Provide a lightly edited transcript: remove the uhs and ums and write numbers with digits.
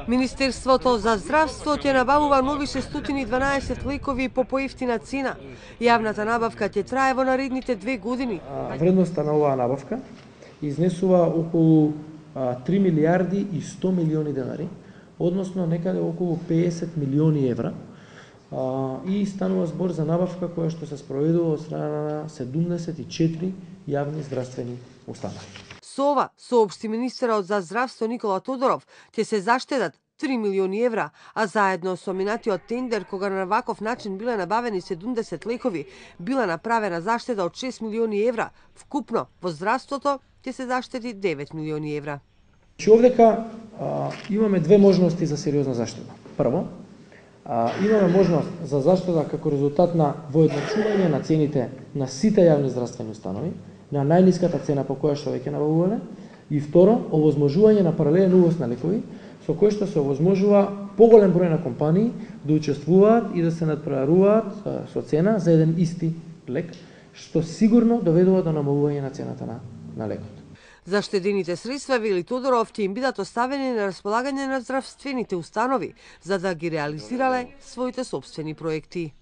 Министерството за здравство ќе набавува нови 612 лекови по поевтина цена. Јавната набавка ќе трае во наредните 2 години. Вредноста на оваа набавка изнесува околу 3 милиарди и 100 милиони денари, односно некаде околу 50 милиони евра, и станува збор за набавка која што се спроведува од страна на 74 јавни здравствени установи. Со ова, соопшти министерот за здравство Никола Тодоров, ќе се заштедат 3 милиони евра, а заедно со минатиот тендер, кога на ваков начин биле набавени 70 лекови, била направена заштеда од 6 милиони евра. Вкупно во здравството ќе се заштеди 9 милиони евра. Овдека имаме две можности за сериозна заштеда. Прво, имаме можност за заштеда како резултат на воедначување на цените на сите јавни здравствени установи, на најниската цена по која што веќе набавувале, и второ, овозможување на паралелен увоз на лекови, со кој што се овозможува поголем број на компании да учествуваат и да се надпреваруваат со цена за еден исти лек, што сигурно доведува до намалување на цената на лекот. Заштедените средства, вели Тодоров, ќе им бидат оставени на располагање на здравствените установи, за да ги реализирале своите сопствени проекти.